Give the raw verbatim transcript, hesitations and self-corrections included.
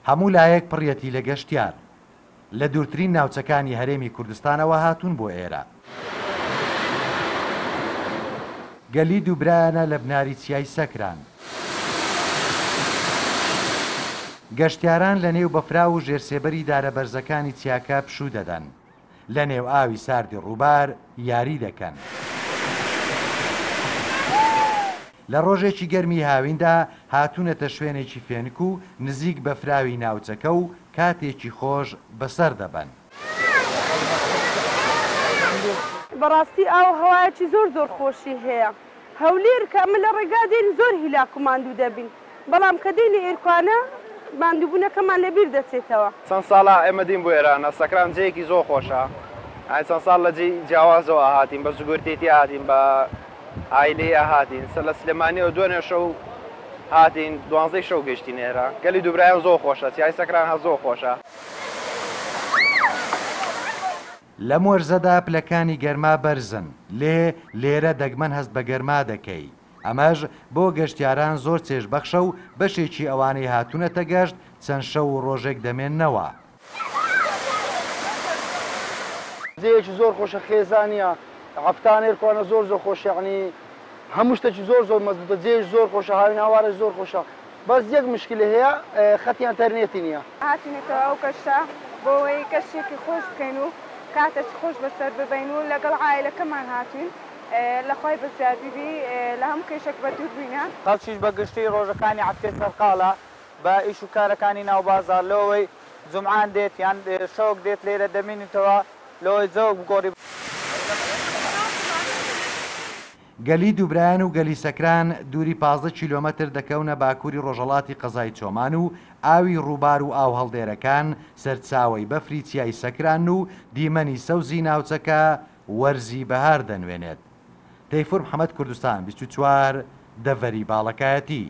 هەموو لایەک پڕیەتی لە گەشتیار. لە دوورترین ناوچەکانی هەرێمی کوردستانەوە هاتوون بۆ ئێرە. گەلی دووبرایانە لە بناری چیای سەکران. گەشتیاران لە نێو بەفراو و ژێرسێبەری دارە بەرزەکانی چیاکە پشوو دەدەن. لە نێو ئاوی ساردی ڕووبار یاری دەکەن. لە ڕۆژێکی گەرمی هاویندا هاتوونەتە شوێنێکی فێنک و نزیک بەفراوی ناوچەکە و کاتێکی خۆش بەسەر دەبەن. بەڕاستی ئاو هەوایەکی زۆر زۆر خۆشی هەیە. هەولێر کە ئەمە لە ڕێگا دێن زۆر هیلاک و ماندوو دەبین، بەڵام کە دێنە ئێرکوانە ماندووبوونەکەمان لەبیر دەچێتەوە. چەند ساڵە ئێمە دین بۆ ئێرانە، سەکران جێیەکی زۆر خۆشە. ئای چەند ساڵ لە جێی جیاوازەوە هاتین، بە زگورتێتی هاتین، بە ئایلەی هاتین، سەر لە سلێمانیەوە دوێنێ شەو هاتین، دوانزەی شەو گەیشتین ئێرە. گەلی دووبرایان زۆر خۆشە، چیای سەکران هەر زۆر خۆشە. لەم وەرزەدا پلەکانی گەرما بەرزن، لێ لێرە دەگمەن هەست بە گەرما دەکەی. ئەمەش بۆ گەشتیاران زۆر چێژبەخشە و بەشێکی ئەوانەی هاتوونەتە گەشت چەند شەو و ڕۆژێک دەمێننەوە. جێیەکی زۆر خۆشە، خێزانیە، هەفتانێرکوانە زۆر زۆر خۆشە، یعنی هەموو شتێکی زۆر زۆر مەزبوطە، جێیش زۆر خۆشە، هاوین هاوارش زۆر خۆشە. بەس یەک مشکلە هەیە، خەتی ئەنتەرنێتی نییە. هاتینەتەوە ئەو کەشە بۆ ئەوەی کەشێکی خۆش بکەین و کاتێکی خۆش بەسەر ببەین و لەگەڵ عائلەکەمان هاتوین، لە خۆی بەزیادی بی، لە هەموو کێشێک بە دوور بینە. خەڵکیش بە گشتی ڕۆژەکانی هەفتەی سەرقاڵە بە ئیش و کارەکانی ناو بازار، لەوەی جومعان دێت یان شەوک دێت لێرە دەمینیتەوە لەوەی جەوک بگۆڕی. گەلی دووبرایان و گەلی سەکران دووری پازدە کیلۆمەتر دەکەونە باکووری ڕۆژهەڵاتی قەزای چۆمان و ئاوی ڕووبار و ئاو هەڵدێرەکان سەرچاوەی بەفری چیای سەکران و دیمەنی سەوزی ناوچەکە وەرزی بەهار دەنوێنێت. تەیفور محەممەد، کوردستان بیست و چوار، دەڤەری باڵەکایەتی.